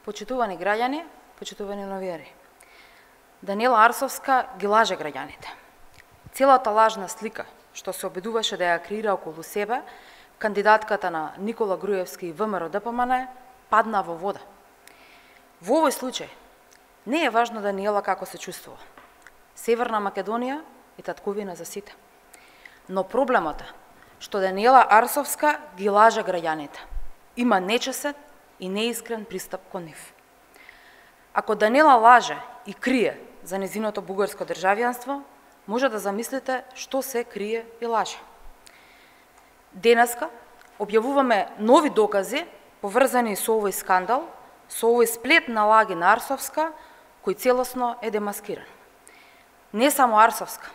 Почитувани граѓани, почитувани новинари. Даниела Арсовска ги лаже граѓаните. Целата лажна слика што се обидуваше да ја креира околу себе, кандидатката на Никола Груевски и ВМРО-ДПМН падна во вода. Во овој случај не е важно Даниела како се чувствува. Северна Македонија е татковина за сите. Но проблемот е што Даниела Арсовска ги лаже граѓаните. Има нечесен и неискрен пристап кон нив. Ако Даниела лаже и крие за незиното бугарско државјанство, може да замислите што се крие и лаже. Денеска објавуваме нови докази поврзани со овој скандал, со овој сплет на лаги на Арсовска, кој целосно е демаскиран. Не само Арсовска,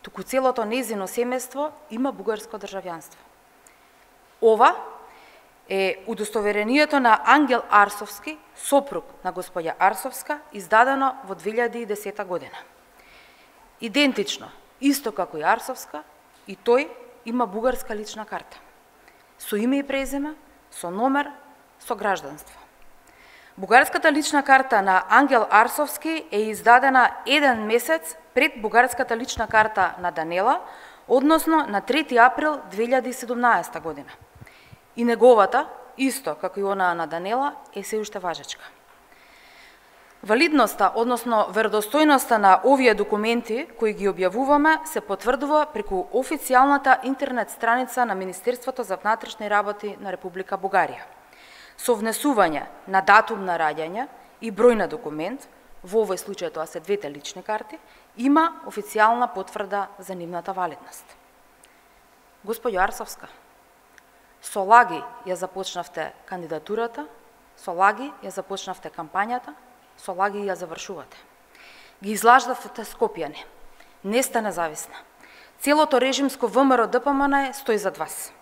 туку целото нејзино семејство има бугарско државјанство. Ова е удостоверението на Ангел Арсовски, сопруг на господја Арсовска, издадено во 2010 година. Идентично, исто како и Арсовска, и тој има бугарска лична карта, со име и презиме, со номер, со гражданство. Бугарската лична карта на Ангел Арсовски е издадена 1 месец пред бугарската лична карта на Даниела, односно на 3 април 2017 година. И неговата, исто како и онаа на Даниела, е се уште важечка. Валидноста, односно веродостојноста на овие документи кои ги објавуваме се потврдува преку официјалната интернет страница на Министерството за внатрешни работи на Република Бугарија. Со внесување на датум на раѓање и број на документ, во овој случај тоа се двете лични карти, има официјална потврда за нивната валидност. Господјо Арсовска, со лаги ја започнавте кандидатурата, со лаги ја започнавте кампањата, со лаги ја завршувате. Ги излаждавте Скопјани. Не сте независна. Целото режимско ВМРО-ДПМН стои зад вас.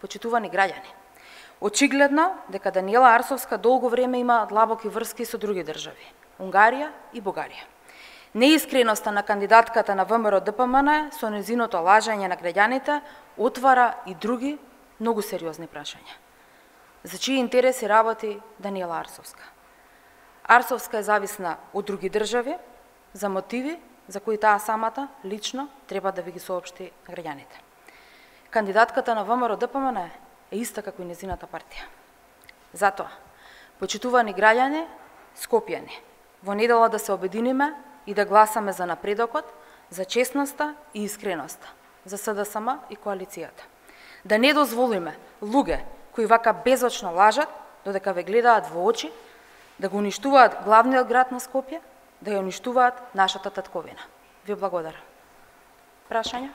Почитувани граѓани, очигледно дека Даниела Арсовска долго време има длабоки врски со други држави, Унгарија и Бугарија. Неискреноста на кандидатката на ВМРО-ДПМН со незиното лажење на граѓаните отвара и други многу сериозни прашања. За чии интереси работи Даниела Арсовска? Арсовска е зависна од други држави за мотиви за кои таа самата лично треба да ви ги соопшти на граѓаните. Кандидатката на ВМРО-ДПМН е иста како и незината партија. Затоа, почитувани граѓани, Скопјани, во недела да се обединиме и да гласаме за напредокот, за честноста и искреноста, за СДСМ и коалицијата. Да не дозволиме луѓе кои вака безочно лажат, додека ве гледаат во очи, да го уништуваат главниот град на Скопје, да ја уништуваат нашата татковина. Ви благодарам. Прашања?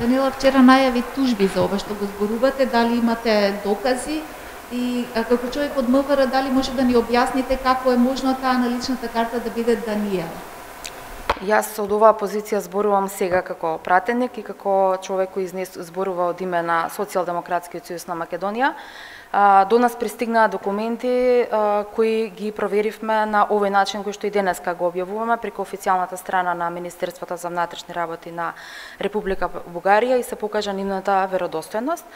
Даниела вчера најави тужби за ова што го зборувате, дали имате докази и како човек од МВР, дали може да ни објасните како е можно таа на личната карта да биде Даниела? Јас од оваа позиција зборувам сега како пратеник и како човек кој зборува од име на Социјалдемократскиот сојуз на Македонија. До нас пристигнаа документи кои ги проверивме на овој начин кој што и денеска го објавуваме преку официјалната страна на Министерството за внатрешни работи на Република Бугарија и се покажа нивната веродостојност.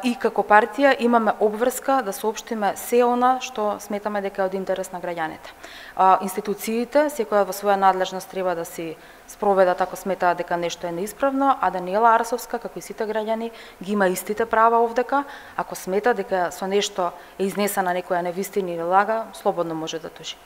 И како партија имаме обврска да соопштиме се она што сметаме дека е од интерес на граѓаните. Институциите, секоја во своја надлежност треба да си спроведат ако сметаат дека нешто е неисправно, а Даниела Арсовска, како и сите граѓани, ги има истите права овдека. Ако смета дека со нешто е изнесена некоја невистина или лага, слободно може да тужи.